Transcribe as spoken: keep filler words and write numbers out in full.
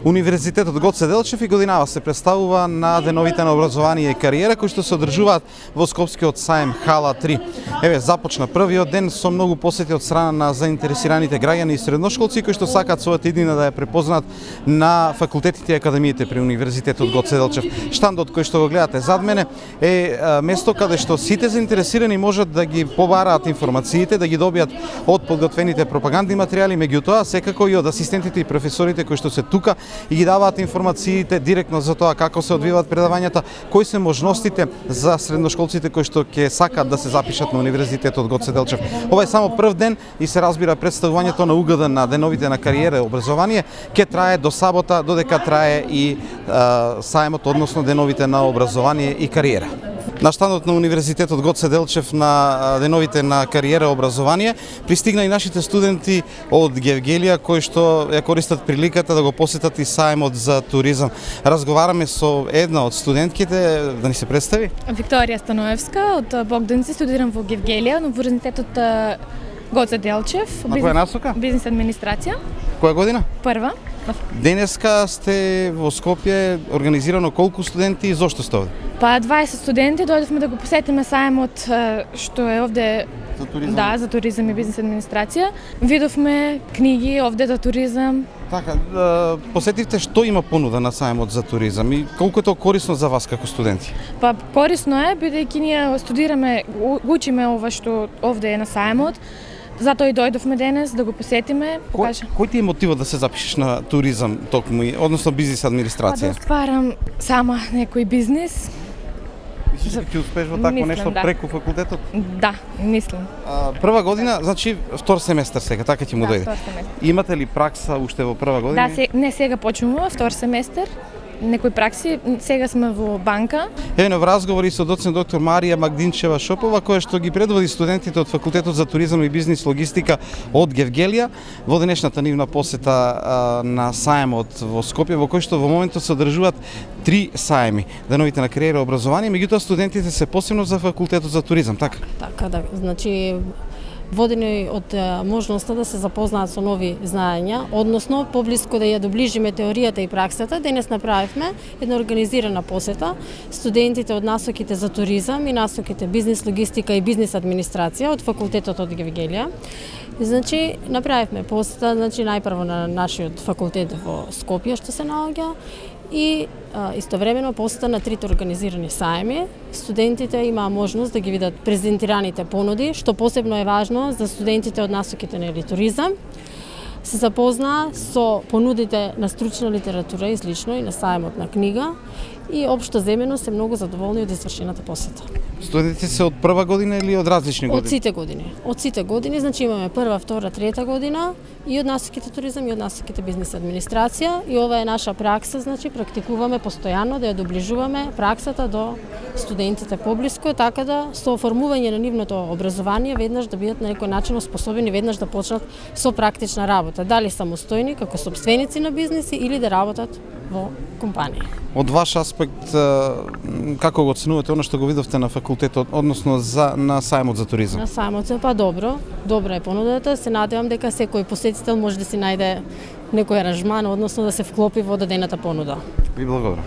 Универзитетот Гоце Делчев и годинава се представува на деновите на образование и кариера кои што се одржуваат во Скопскиот саем Хала три. Еве започна првиот ден со многу посети од страна на заинтересираните граѓани и средношколци кои што сакаат својата иднина да ја препознаат на факултетите и академиите при Универзитетот Гоце Делчев. Штандот кој што го гледате зад мене е место каде што сите заинтересирани можат да ги побараат информациите, да ги добијат од подготвените пропагандни материјали, меѓутоа секако и од асистентите и професорите кои што се тука и ги даваат информациите директно за тоа како се одвиваат предавањата, кои се можностите за средношколците кои што ќе сакаат да се запишат на Универзитетот Гоце Делчев. Ова е само прв ден и се разбира представувањето на угода на деновите на кариера и образование ќе трае до сабота, додека трае и а, саемот, односно деновите на образование и кариера. На штандот на Универзитетот Гоце Делчев на деновите на кариера и образование пристигна и нашите студенти од Гевгелија кои што ја користат приликата да го посетат и саемот за туризам. Разговараме со една од студентките, да ни се представи. Викторија Становевска од Богданци, студирам во Гевгелија, на Универзитетот Гоце Делчев. На која насока? Бизнес администрација. Која година? Прва. Денеска сте во Скопје, организирано колку студенти и зошто сте овде? Па дваесет студенти, дојдовме да го посетиме саемот што е овде за туризам. Да, за туризам и бизнес администрација. Видовме книги овде за туризам. Така, посетивте што има понуда на саемот за туризам и колку е тоа корисно за вас како студенти? Па корисно е, бидејќи ние студираме, учиме ова што овде е на саемот. Затоа и дојдовме денес да го посетиме. Кој, кој ти е мотивот да се запишеш на туризам токму, односно бизнес администрација? Па да стварам сама некој бизнес. Мислиш дека ќе успееш во такво нешто да. преку факултетот? Да, мислам. А, прва година, значи втор семестар сега, така ќе му да, дојде. втор семестар. Имате ли пракса уште во прва година? Да, се, не сега почнува втор семестар. Некои пракси, сега сме во банка. Еве во разговори со доцент доктор Марија Магдинчева Шопова, која што ги предводи студентите од Факултетот за туризам и бизнис логистика од Гевгелија во денешната нивна посета а, на саемот во Скопје, во кој што во моментот се одржуваат три саеми, деновите на кариера и образование, меѓутоа студентите се посебно за Факултетот за туризам, така? Така да, значи водени од можноста да се запознаат со нови знаења, односно поблиску да ја доближиме теоријата и праксата. Денес направивме една организирана посета. Студентите од насоките за туризам и насоките бизнес логистика и бизнес администрација од факултетот од Гевгелија. Значи направивме посета, значи најпрво на нашиот факултет во Скопје што се наоѓа и а, истовремено посета на трите организирани саеми. Студентите имаа можност да ги видат презентираните понуди, што посебно е важно за студентите од насоките на туризам. Се запознаа со понудите на стручна литература и слично и на саемот на книга и општо земено се многу задоволни од извршената посета. Студентите се од прва година или од различни години? Од сите години. Од сите години, значи имаме прва, втора, трета година и од насоките туризам и од насоките бизнес администрација и ова е наша пракса, значи практикуваме постојано да ја доближуваме праксата до студентите поблиску, така да со оформување на нивното образование веднаш да бидат на некој начин оспособени веднаш да почнат со практична работа, дали самостојни како сопственици на бизнеси или да работат во компанија. Од ваш аспект, како го оценувате она што го видовте на факултетот, односно за на саемот за туризам? На саемот па добро, добра е понудата, се надевам дека секој посетител може да си најде некој аранжман, односно да се вклопи во дадената понуда. Ви благодарам.